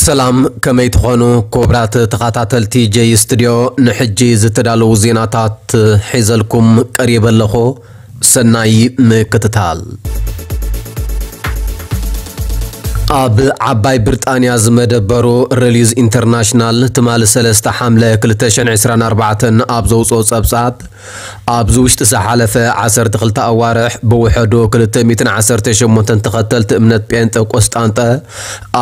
ሰላም፣ ከመይ ትኾኑ ክቡራት ተኸታተልቲ ጀይ ስቱድዮ? ንሕጂ ዝተዳለዉ ዜናታት ሒዘልኩም ቀሪበ ኣለኹ። ሰናይ ምክትታል። ኣብ ዓባይ ብሪጣንያ ዝመደበሩ ሪሊዝ ኢንተርናሽናል ትማሊ ሰለስተ ሓምለ ክልተ ሽሕን ዕስራን ኣርባዕተን ኣብ ዘውፅኦ ፀብፃብ፣ ኣብዚ ውሽጢ ዝሓለፈ ዓሰርተ ክልተ ኣዋርሕ ብውሕዱ ክልተ ሚእትን ዓሰርተ ሸሞንተን ተኸተልቲ እምነት ጴንጠ ቆስጣንጠ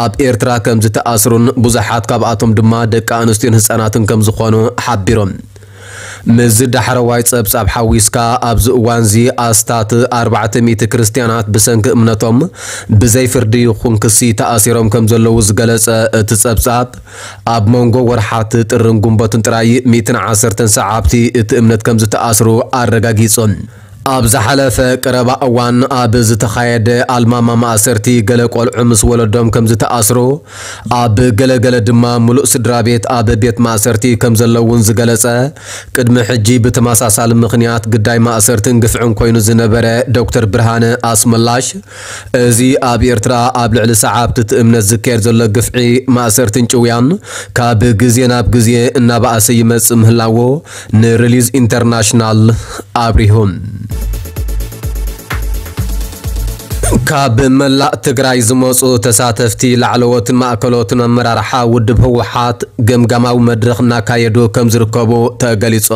ኣብ ኤርትራ ከም ዝተኣስሩን ብዙሓት ካብኣቶም ድማ ደቂ ኣንስትዮን ህፃናትን ከም ዝኾኑ ሓቢሮም። ምስዚ ዳሕረዋይ ጸብጻብ ሓዊስካ፣ ኣብዚ እዋንዚ ኣስታት ኣርባዕተ ሚእቲ ክርስትያናት ብሰንኪ እምነቶም ብዘይ ፍርዲ ይኹን ክሲ ተኣሲሮም ከም ዘለዉ ዝገለጸ እቲ ጸብጻብ፣ ኣብ መንጎ ወርሓት ጥርን ጉንበትን ጥራይ ሚእትን ዓሰርተን ሰዓብቲ እቲ እምነት ከም ዝተኣስሩ ኣረጋጊጹ። ኣብ ዝሓለፈ ቀረባ እዋን ኣብ ዝተኻየደ ኣልማማ ማእሰርቲ፣ ገለ ቆልዑ ምስ ወለዶም ከም ዝተኣስሩ፣ ኣብ ገለገለ ድማ ምሉእ ስድራ ቤት ኣብ ቤት ማእሰርቲ ከም ዘለውን ዝገለጸ፣ ቅድሚ ሕጂ ብተመሳሳሊ ምኽንያት ግዳይ ማእሰርትን ግፍዕን ኮይኑ ዝነበረ ዶክተር ብርሃነ ኣስመላሽ፣ እዚ ኣብ ኤርትራ ኣብ ልዕሊ ሰዓብቲ እቲ እምነት ዝካየድ ዘሎ ግፍዒ፣ ማእሰርትን ጭውያን ካብ ግዜ ናብ ግዜ እናበኣሰ ይመጽእ ምህላዎ ንሪሊዝ ኢንተርናሽናል ኣብሪሁ። ካብ መላእ ትግራይ ዝመጹ ተሳተፍቲ ላዕለዎትን ማእከሎትን ኣመራርሓ ውድብ ህወሓት ገምጋማዊ መድረኽ እናካየዱ ከም ዝርከቡ ተገሊጹ።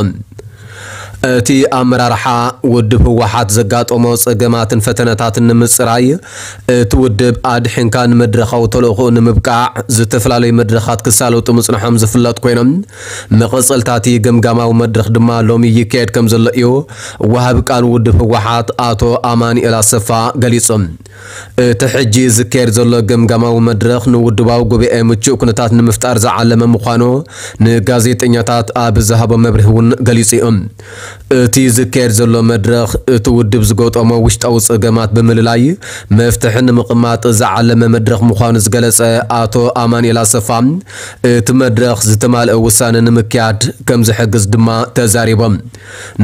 እቲ ኣመራርሓ ውድብ ህወሓት ዘጋጠሞ ጸገማትን ፈተነታትን ንምጽራይ፣ እቲ ውድብ ኣድሒንካ ንመድረኻዊ ተልእኾኡ ንምብቃዕ ዝተፈላለዩ መድረኻት ክሳለጡ ምጽንሖም ዝፍለጥ ኮይኖም፣ መቐጸልታ እቲ ገምጋማዊ መድረኽ ድማ ሎሚ ይካየድ ከም ዘሎ እዩ ወሃቢ ቃል ውድብ ህወሓት ኣቶ ኣማኑኤል ኣሰፋ ገሊጹ። እቲ ሕጂ ዝካየድ ዘሎ ገምጋማዊ መድረኽ ንውድባዊ ጉባኤ ምቹእ ኩነታት ንምፍጣር ዝዓለመ ምዃኑ ንጋዜጠኛታት ኣብ ዝሃቦ መብርሂ እውን ገሊጹ እዩ። እቲ ዝካየድ ዘሎ መድረኽ፣ እቲ ውድብ ዝገጠሞ ውሽጣዊ ጸገማት ብምልላይ መፍትሒ ንምቕማጥ ዝዓለመ መድረኽ ምዃኑ ዝገለጸ ኣቶ ኣማኑኤል ኣሰፋ፣ እቲ መድረኽ ዝተማልአ ውሳነ ንምክያድ ከም ዝሕግዝ ድማ ተዛሪቦም።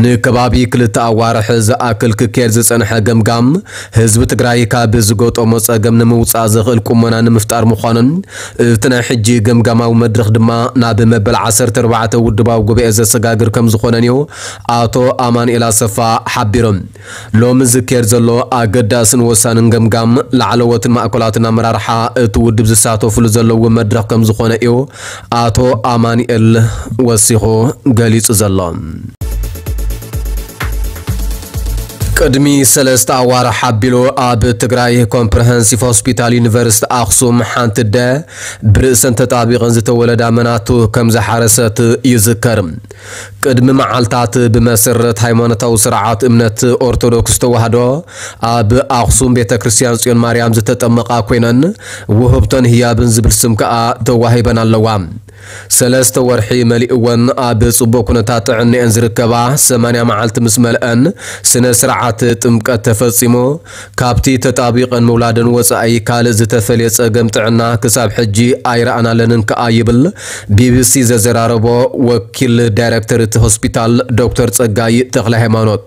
ንከባቢ ክልተ ኣዋርሕ ዝኣክል ክካየድ ዝጸንሐ ገምጋም፣ ህዝቢ ትግራይ ካብ ዝገጠሞ ጸገም ንምውጻእ ዘኽእል ቁመና ንምፍጣር ምዃኑን፣ እቲ ናይ ሕጂ ገምጋማዊ መድረኽ ድማ ናብ መበል ዓሰርተ ኣርባዕተ ውድባዊ ጉባኤ ዘሰጋግር ከም ዝኾነን እዩ ኣቶ ኣማኑኤል ኣሰፋ ሓቢሮም። ሎሚ ዝካየድ ዘሎ ኣገዳስን ወሳንን ገምጋም፣ ላዕለዎትን ማእከላትን ኣመራርሓ እቲ ውድብ ዝሳተፉሉ ዘለዉ መድረኽ ከም ዝኾነ እዩ ኣቶ ኣማኑኤል ወሲኹ ገሊጹ ዘሎ። ቅድሚ ሰለስተ ኣዋርሕ ኣቢሉ ኣብ ትግራይ ኮምፕረሄንሲቭ ሆስፒታል ዩኒቨርሲቲ ኣኽሱም ሓንቲ ኣደ ብርእሰን ተጣቢቐን ዝተወለዳ መናቱ ከም ዝሓረሰት ይዝከር። ቅድሚ መዓልታት ብመሰረት ሃይማኖታዊ ስርዓት እምነት ኦርቶዶክስ ተዋህዶ ኣብ ኣኽሱም ቤተ ክርስቲያን ጽዮን ማርያም ዝተጠመቓ ኮይነን፣ ውህብቶን ህያብን ዝብል ስም ከኣ ተዋሂበን ኣለዋ። ሰለስተ ወርሒ መሊእወን ኣብ ጽቡቕ ኩነታት ጥዕናኤን ዝርከባ ሰማንያ መዓልቲ ምስ መልአን ስነ ስርዓት ጥምቀት ተፈጺሙ። ካብቲ ተጣቢቐን ምውላደን ወጻኢ ካልእ ዝተፈልየ ጸገም ጥዕና ክሳብ ሕጂ ኣይረኣናለንን ከኣ ይብል ቢቢሲ ዘዘራረቦ ወኪል ዳይረክተር እቲ ሆስፒታል ዶክተር ጸጋይ ተኽለ ሃይማኖት።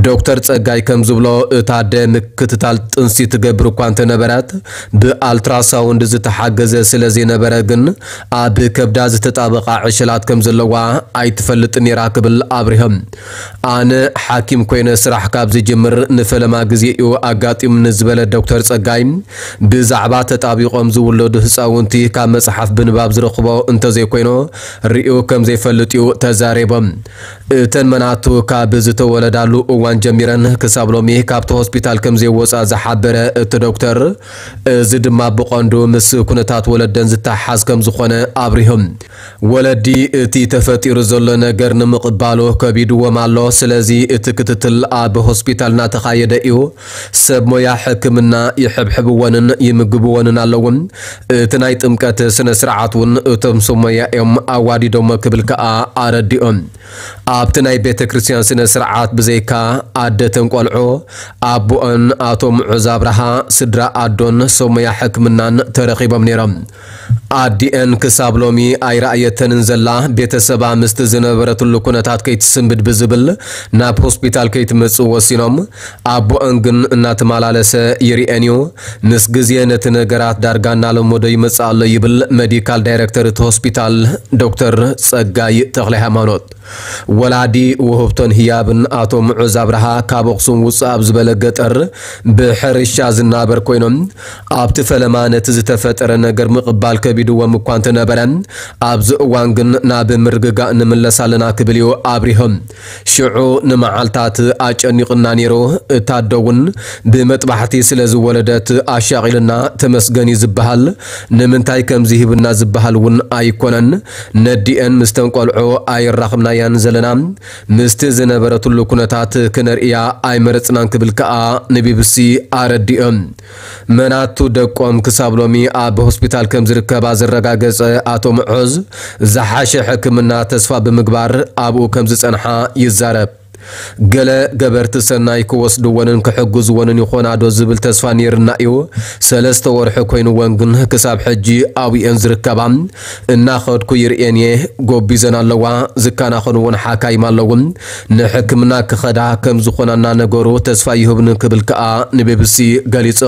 ዶክተር ጸጋይ ከም ዝብሎ፣ እታ ኣደ ምክትታል ጥንሲ ትገብር እኳ እንተነበረት፣ ብኣልትራሳውንድ ዝተሓገዘ ስለ ዘይነበረ ግን ኣብ ከብዳ ዝተጣበቓ ዕሸላት ከም ዘለዋ ኣይትፈልጥን ነይራ ክብል ኣብሪሆም። ኣነ ሓኪም ኮይነ ስራሕ ካብ ዝጅምር ንፈለማ ግዜ እዩ ኣጋጢሙኒ ዝበለ ዶክተር ጸጋይ፣ ብዛዕባ ተጣቢቖም ዝውለዱ ህፃውንቲ ካብ መፅሓፍ ብንባብ ዝረኽቦ እንተዘይኮይኑ ርእዩ ከም ዘይፈልጥ እዩ ተዛሪቦም። እተን መናቱ ካብ ዝተወለዳሉ እዋን ጀሚረን ክሳብ ሎሚ ካብቲ ሆስፒታል ከም ዘይወፃ ዝሓበረ እቲ ዶክተር፣ እዚ ድማ ብቐንዱ ምስ ኩነታት ወለደን ዝተሓሓዝ ከም ዝኾነ ኣብሪሆም። ወለዲ እቲ ተፈጢሩ ዘሎ ነገር ንምቕባሉ ከቢድዎም ኣሎ። ስለዚ እቲ ክትትል ኣብ ሆስፒታል እናተኻየደ እዩ። ሰብ ሞያ ሕክምና ይሕብሕብወንን ይምግብወንን ኣለዉ። እቲ ናይ ጥምቀት ስነ ስርዓት እውን እቶም ሰብ ሞያ እዮም ኣዋዲዶሞ ክብል ከኣ ኣረዲኦም። ኣብቲ ናይ ቤተ ክርስቲያን ስነ ስርዓት ብዘይካ ኣደተን ቆልዑ ኣቦኦን ኣቶ ምዑዝ ኣብርሃ ስድራ ኣዶን ሰብ ሞያ ሕክምናን ተረኺቦም ነይሮም። ኣዲኤን ክሳብ ሎሚ ኣይረኣየተንን ዘላ፣ ቤተሰባ ምስቲ ዝነበረትሉ ኩነታት ከይትስንብድ ብዝብል ናብ ሆስፒታል ከይትመጽእ ወሲኖም። ኣቦኦን ግን እናተመላለሰ ይርኤን እዩ። ምስ ግዜ ነቲ ነገራት ዳርጋ እናለመዶ ይመጽእ ኣሎ ይብል ሜዲካል ዳይሬክተር እቲ ሆስፒታል ዶክተር ጸጋይ ተኽለ ሃይማኖት። ወላዲ ውህብቶን ህያብን ኣቶ ምዑዝ ኣብርሃ ካብ ኣኽሱም ውፅእ ኣብ ዝበለ ገጠር ብሕርሻ ዝናበር ኮይኖም ኣብቲ ፈለማ ነቲ ዝተፈጠረ ነገር ምቕባል ከቢድዎም እኳ እንተነበረ ኣብዚ እዋን ግን ናብ ምርግጋእ ንምለስ ኣለና ክብል እዩ ኣብሪሆም። ሽዑ ንመዓልታት ኣጨኒቕና ነይሩ። እታ ኣዶ እውን ብመጥባሕቲ ስለ ዝወለደት ኣሻቒልና ተመስገን እዩ ዝበሃል። ንምንታይ ከምዚ ሂብና ዝበሃል እውን ኣይኮነን። ነዲኤን ምስተን ቆልዑ ኣይራኽብናያን ዘለና። ምስቲ ዝነበረትሉ ኩነታት ክነርእያ ኣይመረጽናን ክብል ከኣ ንቢቢሲ ኣረዲኦም። መናቱ ደቆም ክሳብ ሎሚ ኣብ ሆስፒታል ከም ዝርከባ ዘረጋገጸ ኣቶ ምዑዝ ዝሓሸ ሕክምና ተስፋ ብምግባር ኣብኡ ከም ዝጸንሓ ይዛረብ። ገለ ገበርቲ ሰናይ ክወስድወንን ክሕግዝወንን ይኾና ዶ ዝብል ተስፋ ነይርና እዩ። ሰለስተ ወርሒ ኮይንወን ግን ክሳብ ሕጂ ኣብኡ እየን ዝርከባ። እናኸድኩ ይርእየን እየ። ጎቢዘን ኣለዋ። ዝከናኸኑ እውን ሓካይም ኣለዉ። ንሕክምና ክኸዳ ከም ዝኾና እናነገሩ ተስፋ ይህብኒ ክብል ከኣ ንቢቢሲ ገሊጹ።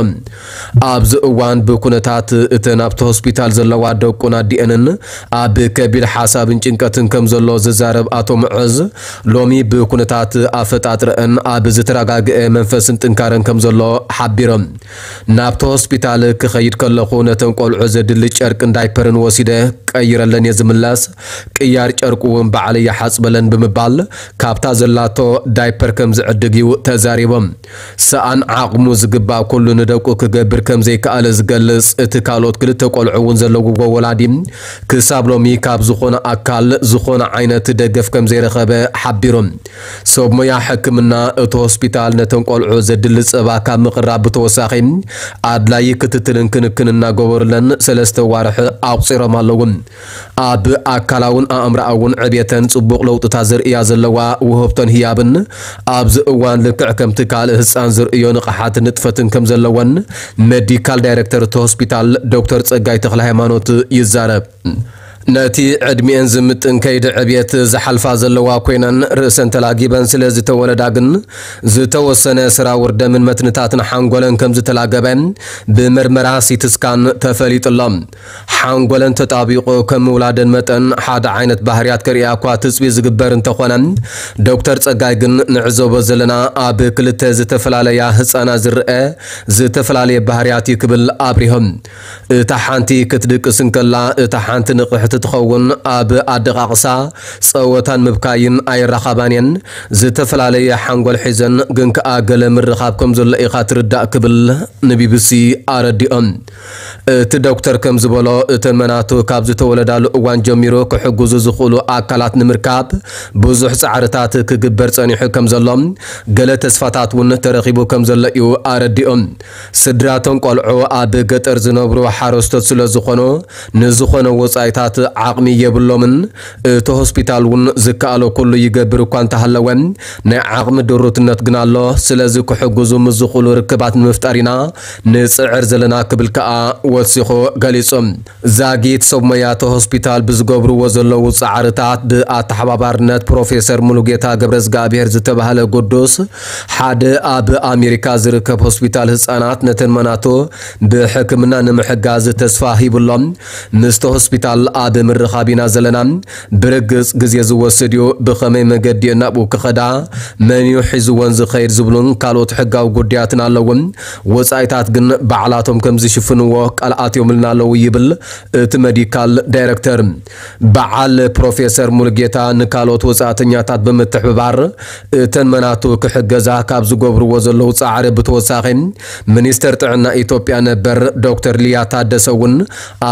ኣብዚ እዋን ብኩነታት እተን ኣብቲ ሆስፒታል ዘለዋ ደቁን ኣዲኤንን ኣብ ከቢድ ሓሳብን ጭንቀትን ከም ዘሎ ዝዛረብ ኣቶ ምዑዝ፣ ሎሚ ብኩነታት ኣፈጣጥረአን ኣብ ዝተረጋግአ መንፈስን ጥንካረን ከም ዘሎ ሓቢሮም። ናብቲ ሆስፒታል ክኸይድ ከለኹ ነተን ቆልዑ ዘድሊ ጨርቅን ዳይፐርን ወሲደ ቀይረለን እየ ዝምለስ። ቅያር ጨርቁ እውን ባዕለይ ይሓጽበለን ብምባል ካብታ ዘላቶ ዳይፐር ከም ዝዕድግ እዩ ተዛሪቦም። ሰኣን ዓቕሙ ዝግባእ ኩሉ ንደቁ ክገብር ከም ዘይከኣለ ዝገልጽ እቲ ካልኦት ክልተ ቆልዑ እውን ዘለውዎ ወላዲ ክሳብ ሎሚ ካብ ዝኾነ ኣካል ዝኾነ ዓይነት ደገፍ ከም ዘይረኸበ ሓቢሮም። ሰብ ሞያ ሕክምና እቲ ሆስፒታል ነተን ቆልዑ ዘድሊ ጸባ ካብ ምቕራብ ብተወሳኺ ኣድላዪ ክትትልን ክንክን እናገበሩለን ሰለስተ ዋርሕ ኣቑጺሮም ኣለዉ። ኣብ ኣካላውን ኣእምሮኣውን ዕብየተን ጽቡቕ ለውጥታት ዘርእያ ዘለዋ ውህብቶን ህያብን ኣብዚ እዋን ልክዕ ከምቲ ካልእ ህጻን ዝርእዮ ንቕሓትን ንጥፈትን ከም ዘለወን ሜዲካል ዳይሬክተር እቲ ሆስፒታል ዶክተር ጸጋይ ተኽለ ሃይማኖት ይዛረብ። ነቲ ዕድሚኤን ዝምጥን ከይዲ ዕብየት ዝሓልፋ ዘለዋ ኮይነን ርእሰን ተላጊበን ስለ ዝተወለዳ ግን ዝተወሰነ ስራውር ደምን መትንታትን ሓንጎለን ከም ዝተላገበ ብምርመራ ሲቲ ስካን ተፈሊጡ ኣሎ። ሓንጎለን ተጣቢቑ ከም ምውላደን መጠን ሓደ ዓይነት ባህርያት ከርእያ እኳ ትጽቢት ዝግበር እንተኾነ ዶክተር ጸጋይ ግን ንዕዘቦ ዘለና ኣብ ክልተ ዝተፈላለያ ህጻናት ዝረአ ዝተፈላለየ ባህርያት እዩ ክብል ኣብሪሆም። እታ ሓንቲ ክትድቅስ እንከላ እታ ሓንቲ ንቕሕቲ ትኸውን። ኣብ ኣደቓቕሳ ጸወታን ምብካይን ኣይራኸባን እየን። ዝተፈላለየ ሓንጎል ሒዘን ግን ከኣ ገለ ምርኻብ ከም ዘሎ ኢኻ ትርዳእ ክብል ንቢቢሲ ኣረዲኦም። እቲ ዶክተር ከም ዝበሎ እተን መናቱ ካብ ዝተወለዳሉ እዋን ጀሚሩ ክሕግዙ ዝኽእሉ ኣካላት ንምርካብ ብዙሕ ጻዕርታት ክግበር ጸኒሑ ከም ዘሎ ገለ ተስፋታት እውን ተረኺቡ ከም ዘሎ እዩ ኣረዲኦም። ስድራቶም ቆልዑ ኣብ ገጠር ዝነብሩ ሓረስቶት ስለ ዝኾኑ ንዝኾነ ወጻኢታት ዓቕሚ የብሎምን። እቲ ሆስፒታል እውን ዝከኣሎ ኩሉ ይገብር እኳ እንተሃለወ ናይ ዓቕሚ ድሩትነት ግን ኣሎ። ስለዚ ክሕግዙ ምስ ዝኽእሉ ርክባት ንምፍጣር ኢና ንጽዕር ዘለና ክብል ከኣ ወሲኹ ገሊጹ። ዛጊት ሰብ ሞያተ ሆስፒታል ብዝገብርዎ ዘለዉ ጻዕርታት ብኣተሓባባርነት ፕሮፌሰር ሙሉጌታ ገብረዝጋብሔር ዝተባህለ ግዱስ ሓደ ኣብ ኣሜሪካ ዝርከብ ሆስፒታል ህጻናት ነተን መናቱ ብሕክምና ንምሕጋዝ ተስፋ ሂብሎም። ምስቲ ሆስፒታል ኣብ ምርኻብ ኢና ዘለና። ብርግጽ ግዜ ዝወስድ እዩ። ብኸመይ መገዲ እየን ናብኡ ክኸዳ፣ መን እዩ ሒዝወን ዝኸይድ ዝብሉን ካልኦት ሕጋዊ ጉዳያትን ኣለዉ። ወጻኢታት ግን ባዕላቶም ከም ዝሽፍንዎ ቃል ኣትዮምልና ኣለዉ ይብል እቲ መዲካል ዳይረክተር። በዓል ፕሮፌሰር ሙሉጌታ ንካልኦት ወጻእተኛታት ብምትሕብባር እተን መናቱ ክሕገዛ ካብ ዝገብርዎ ዘለዉ ጻዕሪ ብተወሳኺ ሚኒስተር ጥዕና ኢትዮጵያ ነበር ዶክተር ሊያ ታደሰ እውን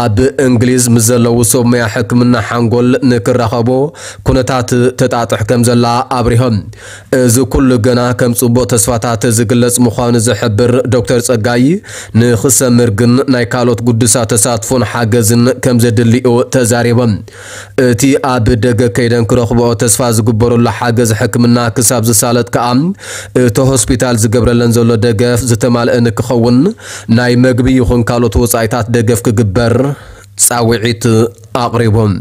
ኣብ እንግሊዝ ምስ ዘለዉ ሰብ ሞያ ሕክምና ሓንጎል ንክራኸቦ ኩነታት ተጣጥሕ ከም ዘላ ኣብሪሆም። እዚ ኩሉ ገና ከም ጽቡቕ ተስፋታት ዝግለጽ ምዃኑ ዝሕብር ዶክተር ጸጋይ፣ ንክሰምር ግን ናይ ካልኦት ግዱሳት ተሳትፎን ሓገዝን ከም ዘድልዮ ተዛሪቦም። እቲ ኣብ ደገ ከይደን ክረኽብኦ ተስፋ ዝግበረሉ ሓገዝ ሕክምና ክሳብ ዝሳለጥ ከኣ፣ እቲ ሆስፒታል ዝገብረለን ዘሎ ደገፍ ዝተማልአ ንክኸውን፣ ናይ መግቢ ይኹን ካልኦት ወጻኢታት ደገፍ ክግበር ጻውዒት ኣቕሪቦም።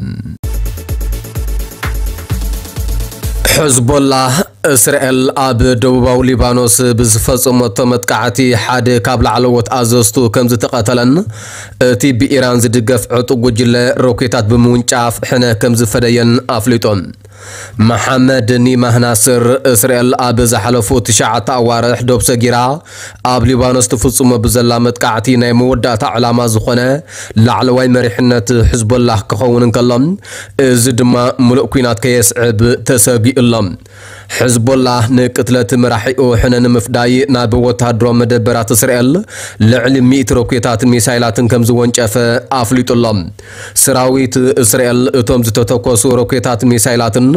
ሕዝቦላህ፣ እስራኤል ኣብ ደቡባዊ ሊባኖስ ብዝፈጸመቶ መጥቃዕቲ ሓደ ካብ ላዕለዎት ኣዘዝቱ ከም ዝተቐተለን፣ እቲ ብኢራን ዝድገፍ ዕጡቕ ጉጅለ ሮኬታት ብምውንጫፍ ሕነ ከም ዝፈደየን ኣፍሊጡ። መሓመድ ኒማህ ናስር፣ እስራኤል ኣብ ዝሓለፉ ትሽዓተ ኣዋርሕ ዶብ ሰጊራ ኣብ ሊባኖስ ትፍጽሞ ብዘላ መጥቃዕቲ ናይ መወዳእታ ዕላማ ዝኾነ ላዕለዋይ መሪሕነት ሕዝቦላህ ክኸውን እንከሎ፣ እዚ ድማ ምሉእ ኲናት ከየስዕብ ተሰጊኡ ኣሎ። ሕዝቦላህ ንቅትለት መራሒኡ ሕነ ንምፍዳይ ናብ ወተሃደራዊ መደበራት እስራኤል ልዕሊ ሚእቲ ሮኬታትን ሚሳይላትን ከም ዝወንጨፈ ኣፍሊጡ ኣሎ። ሰራዊት እስራኤል እቶም ዝተተኮሱ ሮኬታት ሚሳይላትን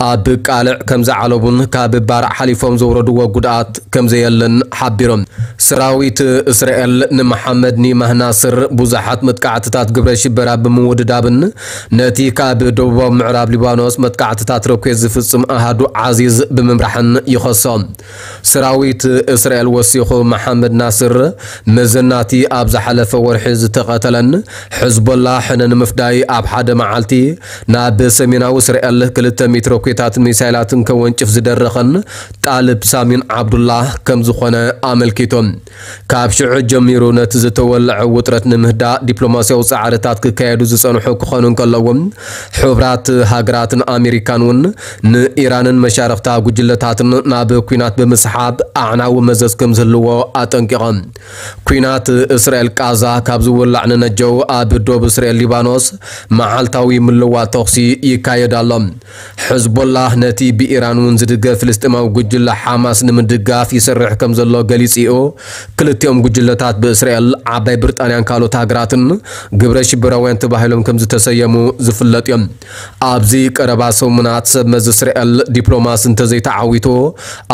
ኣብ ቃልዕ ከም ዝዓለቡን ካብ ባርዕ ሓሊፎም ዘውረድዎ ጉድኣት ከም ዘየለን ሓቢሮም። ሰራዊት እስራኤል ንመሓመድ ኒማህ ናስር ብዙሓት መጥቃዕትታት ግብረ ሽበራ ብምውድዳብን ነቲ ካብ ደቡባዊ ምዕራብ ሊባኖስ መጥቃዕትታት ሮኬት ዝፍጽም ኣሃዱ ዓዚዝ ብምምራሕን ይኸሶ። ሰራዊት እስራኤል ወሲኹ፣ መሓመድ ናስር መዘናቲ ኣብ ዝሓለፈ ወርሒ ዝተቐተለን፣ ሕዝቦላ ሕነ ንምፍዳይ ኣብ ሓደ መዓልቲ ናብ ሰሜናዊ እስራኤል ክልተ ሚእቲ ሮኬታትን ሚሳይላትን ከወንጭፍ ዝደረኸን ጣልብ ሳሚን ዓብዱላህ ከም ዝኾነ ኣመልኪቶም። ካብ ሽዑ ጀሚሩ ነቲ ዝተወለዐ ውጥረት ንምህዳእ ዲፕሎማስያዊ ጻዕርታት ክካየዱ ዝጸንሑ ክኾኑ እንከለዉ፣ ሕቡራት ሃገራትን ኣሜሪካን እውን ንኢራንን መሻርኽታ ጉጅለታትን ናብ ኲናት ብምስሓብ ኣዕናዊ መዘዝ ከም ዝህልዎ ኣጠንቂቖም። ኲናት እስራኤል ቃዛ ካብ ዝውላዕ ንነጀው ኣብ ዶብ እስራኤል ሊባኖስ መዓልታዊ ምልዋጥ ተኹሲ ይካየድ ኣሎ። ሕዝቦላህ ነቲ ብኢራን እውን ዝድገፍ ፍልስጤማዊ ጉጅለ ሓማስ ንምድጋፍ ይሰርሕ ከም ዘሎ ገሊጹ እዩ። ክልቲኦም ጉጅለታት ብእስራኤል፣ ዓባይ ብሪጣንያን ካልኦት ሃገራትን ግብረ ሽበራውያን ተባሂሎም ከም ዝተሰየሙ ዝፍለጥ እዮም። ኣብዚ ቀረባ ሰሙናት ሰብ መዚ እስራኤል ዲፕሎማሲ እንተዘይተዓዊቱ፣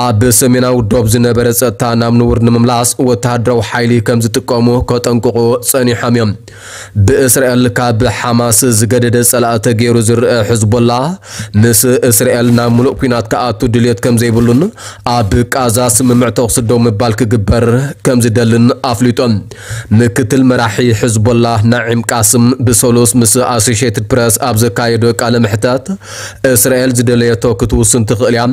ኣብ ሰሜናዊ ዶብ ዝነበረ ጸጥታ ናብ ንቡር ንምምላስ ወተሃደራዊ ሓይሊ ከም ዝጥቀሙ ከጠንቅቑ ጸኒሖም እዮም። ብእስራኤል ካብ ሓማስ ዝገደደ ጸላኢ ተገይሩ ዝረአ ሕዝቦላ፣ ምስ እስራኤል ናብ ምሉእ ኲናት ክኣቱ ድልየት ከም ዘይብሉን ኣብ ቃዛ ስምምዕ ተኹሲ ደው ምባል ክግበር ከም ዝደልን ኣፍሊጦም። ምክትል መራሒ ሕዝቦላ ናዒም ቃስም ብሰሉስ ምስ ኣሶሼትድ ፕረስ ኣብ ዘካየዶ ቃለ መሕተት፣ እስራኤል ዝደለየቶ ክትውስን ትኽእል እያ፣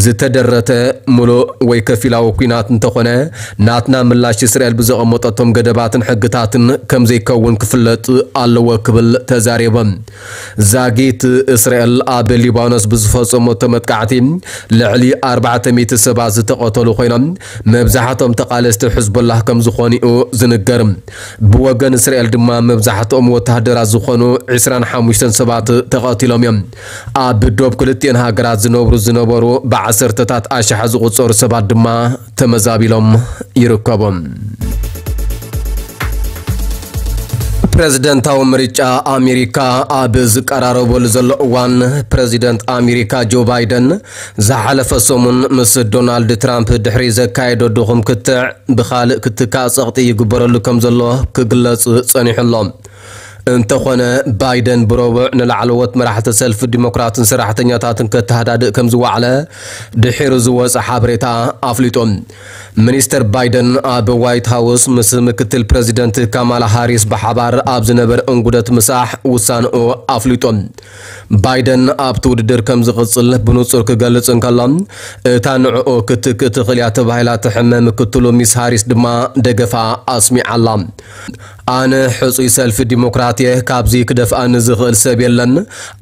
ዝተደረተ ምሉእ ወይ ከፊላዊ ኲናት እንተኾነ፣ ናትና ምላሽ እስራኤል ብዘቐመጠቶም ገደባትን ሕግታትን ከም ዘይከውን ክፍለጥ ኣለዎ ክብል ተዛሪቦም። ዛጊት እስራኤል ኣብ ሊባኖስ ብዝፈጸመቶ መጥቃዕቲ ልዕሊ ኣርባዕተ ሚእቲ ሰባት ዝተቐተሉ ኮይኖም፣ መብዛሕቶም ተቓለስቲ ሕዝቦላህ ከም ዝኾኑ'ዩ ዝንገር። ብወገን እስራኤል ድማ መብዛሕትኦም ወተሃደራት ዝኾኑ ዕስራን ሓሙሽተን ሰባት ተቐቲሎም እዮም። ኣብ ዶብ ክልቲኤን ሃገራት ዝነብሩ ዝነበሩ ብዓሰርተታት ኣሽሓት ዝቑጸሩ ሰባት ድማ ተመዛቢሎም ይርከቡ። ፕረዚደንታዊ ምርጫ ኣሜሪካ ኣብ ዝቀራረበሉ ዘሎ እዋን፣ ፕረዚደንት ኣሜሪካ ጆ ባይደን ዝሓለፈ ሰሙን ምስ ዶናልድ ትራምፕ ድሕሪ ዘካየዶ ድኹም ክትዕ ብኻልእ ክትካእ ጸቕጢ ይግበረሉ ከም ዘሎ ክግለጽ ጸኒሑ ኣሎ። እንተኾነ፣ ባይደን ብረቡዕ ንላዕለዎት መራሕቲ ሰልፊ ዲሞክራትን ሰራሕተኛታትን ከተሃዳድእ ከም ዝወዓለ ድሒሩ ዝወጸ ሓበሬታ ኣፍሊጡ። ሚኒስተር ባይደን ኣብ ዋይት ሃውስ ምስ ምክትል ፕረዚደንት ካማላ ሃሪስ ብሓባር ኣብ ዝነበረ እንጉደት ምሳሕ ውሳንኡ ኣፍሊጡ። ባይደን ኣብቲ ውድድር ከም ዝቕጽል ብንጹር ክገልጽ እንከሎ፣ እታ ንዕኡ ክትክእ ትኽእል እያ ተባሂላ ትሕመ ምክትሉ ሚስ ሃሪስ ድማ ደገፋ ኣስሚዓላ። ኣነ ሕጹይ ሰልፊ ዲሞክራት እየ፣ ካብዚ ክደፍኣኒ ዝኽእል ሰብ የለን፣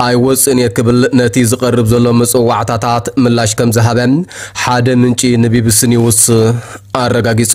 ኣይወጽእን እየ ክብል ነቲ ዝቐርብ ዘሎ መጸዋዕታታት ምላሽ ከም ዝሃበ ሓደ ምንጪ ንቢቢሲ ኒውስ ኣረጋጊጹ።